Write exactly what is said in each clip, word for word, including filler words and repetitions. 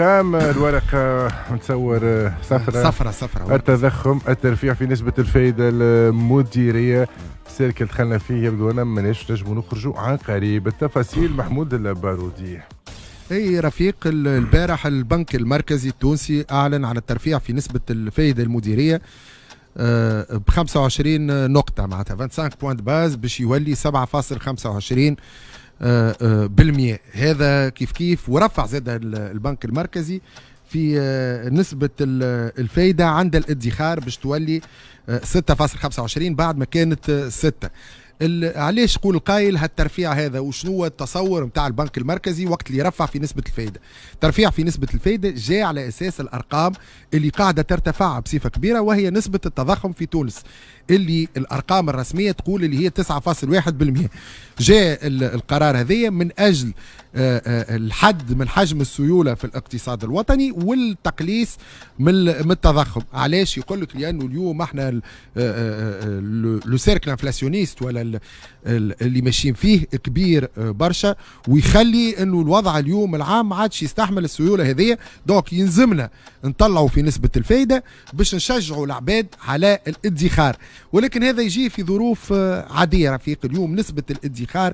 الارقام، الورقة نتصور صفرة صفرة صفرة. التضخم، الترفيع في نسبه الفائدة المديريه، cercle دخلنا فيه يبدو لنا ماناش نجموا نخرجوا عن قريب. التفاصيل محمود البارودي. اي رفيق، البارح البنك المركزي التونسي اعلن على الترفيع في نسبه الفائدة المديرية ب خمسة وعشرين نقطه، معناتها خمسة وعشرين points de base، باش يولي سبعة فاصل خمسة وعشرين آه، آه، بالمية. هذا كيف كيف ورفع زاد البنك المركزي في آه، نسبة الفايدة عند الادخار باش تولي ستة فاصل خمسة وعشرين بعد ما كانت ستة. علاش يقول القايل هالترفيع هذا؟ وشنو التصور نتاع البنك المركزي وقت اللي رفع في نسبة الفايدة؟ ترفيع في نسبة الفايدة جاء على أساس الأرقام اللي قاعدة ترتفع بصفة كبيرة، وهي نسبة التضخم في تونس اللي الأرقام الرسمية تقول اللي هي تسعة فاصل واحد بالمية. جاء القرار هذايا من أجل آه، آه، الحد من حجم السيولة في الاقتصاد الوطني والتقليص من التضخم. علاش؟ يقول لك لأنه اليوم احنا le cercle inflationniste ولا اللي ماشيين فيه كبير آه، برشا، ويخلي انه الوضع اليوم العام ما عادش يستحمل السيولة هذه، donc يلزمنا نطلعوا في نسبه الفايدة باش نشجعوا العباد على الادخار. ولكن هذا يجي في ظروف عاديه. رفيق، اليوم نسبه الادخار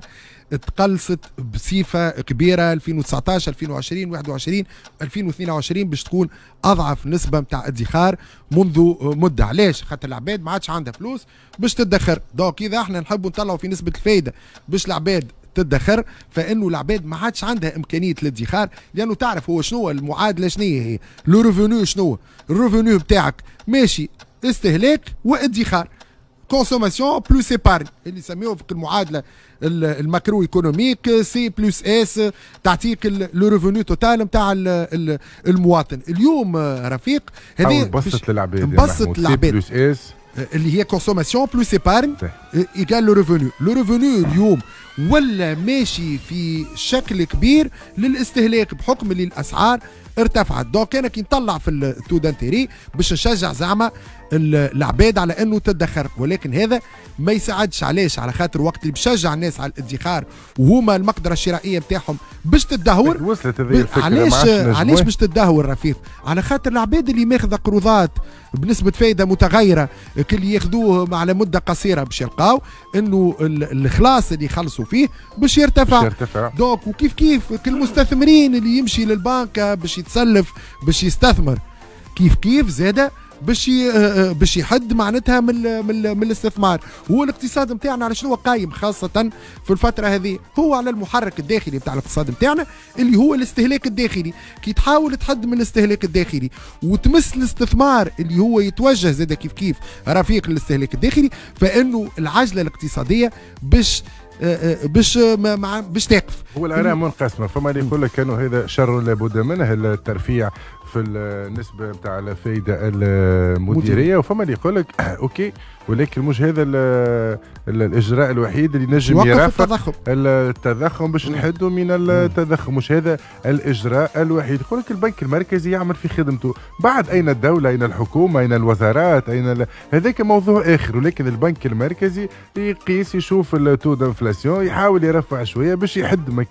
تقلصت بصفة كبيرة ألفين وتسعطاش، ألفين وعشرين، واحد وعشرين، ألفين واثنين وعشرين باش تكون اضعف نسبه نتاع ادخار منذ مده. علاش؟ خاطر العباد ما عادش عندها فلوس باش تدخر. donc اذا احنا نحبوا نطلعوا في نسبه الفايدة باش العباد تدخر، فانه العباد ما عادش عندها امكانية الادخار، لانه تعرف هو شنو المعادله، شنو هي le revenu، شنو ال revenu بتاعك ماشي استهلاك وادخار، consommation plus épargne، اللي يسميوه في المعادلة ال macroéconomique C plus S تعطيك le revenu total نتاع المواطن. اليوم رفيق، هذه نبسط للعباد. نبسط للعباد، C plus S. اللي هي consommation plus épargne égale le revenu. le revenu اليوم ولا ماشي في شكل كبير للاستهلاك بحكم اللي الاسعار ارتفعت. donc انا كي نطلع في ال taux d'intérêt باش نشجع زعما العباد على انه تدخر، ولكن هذا ما يساعدش. علاش؟ على خاطر وقت اللي بشجع الناس على الادخار وهما المقدرة الشرائية نتاعهم باش تدهور. وصلت هذه الفكره. علاش؟ علاش باش تدهور رفيق؟ على خاطر العباد اللي ماخذه قروضات بنسبة فايده متغيره، كل ياخذوه على مده قصيره، باش يلقاو انه الخلاص اللي يخلصوا فيه باش يرتفع. باش يرتفع. donc وكيف كيف كل المستثمرين اللي يمشي للبنك باش يتسلف باش يستثمر، كيف كيف زاده باش آه، آه، باش يحد معناتها من من, من الاستثمار. هو الاقتصاد نتاعنا على شنو قايم خاصة في الفترة هذه؟ هو على المحرك الداخلي نتاع الاقتصاد نتاعنا اللي هو الاستهلاك الداخلي. كي تحاول تحد من الاستهلاك الداخلي وتمس الاستثمار اللي هو يتوجه زاد كيف كيف رفيق الاستهلاك الداخلي، فانه العجلة الاقتصادية باش آه، باش مع باش تقف. هو الاراء منقسمه، فما اللي يقول لك انه هذا شر لابد منه، الترفيع في النسبة نتاع الفائدة المديريه، وفما اللي يقول لك OK، ولكن مش هذا الاجراء الوحيد اللي نجم يرافق التضخم. التضخم باش نحدوا من التضخم، مش هذا الاجراء الوحيد. يقول لك البنك المركزي يعمل في خدمته، بعد اين الدوله؟ اين الحكومه؟ اين الوزارات؟ اين ال... هذاك موضوع اخر. ولكن البنك المركزي يقيس، يشوف ال taux d'inflation، يحاول يرفع شوية باش يحد من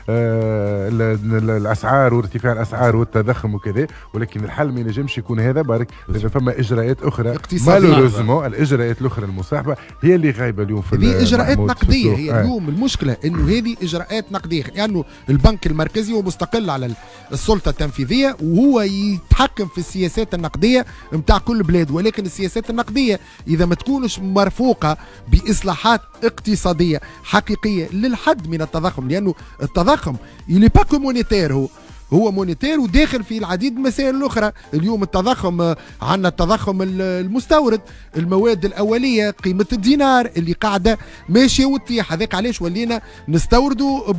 آه، الاسعار وارتفاع الاسعار والتضخم وكذا، ولكن الحل ما ينجمش يكون هذا برك، لازم فما اجراءات اخرى. malheureusement الاجراءات الاخرى المصاحبة هي اللي غايبة اليوم في هذه اجراءات نقدية هي. آه. اليوم المشكلة انه هذه اجراءات نقديه، لانه يعني البنك المركزي هو مستقل على السلطة التنفيذية وهو يتحكم في السياسات النقدية نتاع كل بلاد، ولكن السياسات النقدية اذا ما تكونش مرفوقه باصلاحات اقتصادية حقيقية للحد من التضخم، لانه التضخم il est pas que monétaire، هو هو monétaire وداخل في العديد من المسائل الاخرى. اليوم التضخم، عندنا التضخم المستورد، المواد الاوليه، قيمة الدينار اللي قاعدة ماشية وتطيح، هذاك علاش ولينا نستوردوا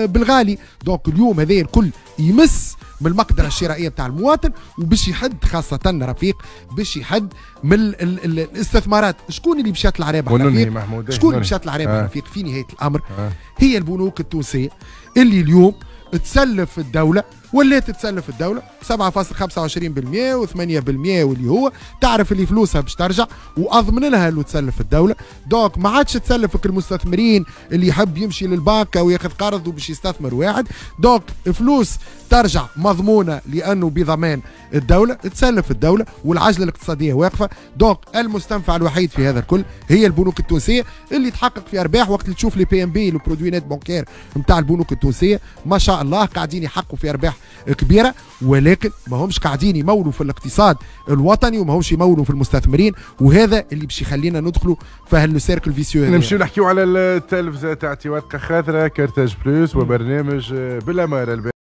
بالغالي. donc اليوم هذا الكل يمس من المقدرة الشرائية بتاع المواطن وباش يحد، خاصة رفيق، باش يحد من ال ال ال الاستثمارات. شكون اللي باش يطلع رابح رفيق؟ شكون اللي باش يطلع رابح آه. رفيق في نهاية الامر آه. هي البنوك التونسية اللي اليوم تسلف الدولة. ولات تسلف الدولة سبعة فاصل خمسة وعشرين بالمية وثمانية بالمية، واللي هو تعرف اللي فلوسها باش ترجع واضمن لها انه تسلف الدولة. donc ما عادش تسلفك المستثمرين اللي يحب يمشي للبنك وياخذ قرض وباش يستثمر واحد. donc فلوس ترجع مضمونه لانه بضمان الدولة، تسلف الدولة والعجلة الاقتصادية واقفة. donc المستنفع الوحيد في هذا الكل هي البنوك التونسية اللي تحقق في ارباح. وقت اللي تشوف les PNB، les produits nets bancaires نتاع البنوك التونسية، ما شاء الله قاعدين يحققوا في ارباح كبيره، ولكن ما همش قاعدين يمولوا في الاقتصاد الوطني وما همش يمولوا في المستثمرين، وهذا اللي باش يخلينا ندخلوا في هال cercle vicieux. نمشيو نحكيو على التلفزة تاعتي ورقة خاثره كارتاج بلوس وبرنامج بالاماره.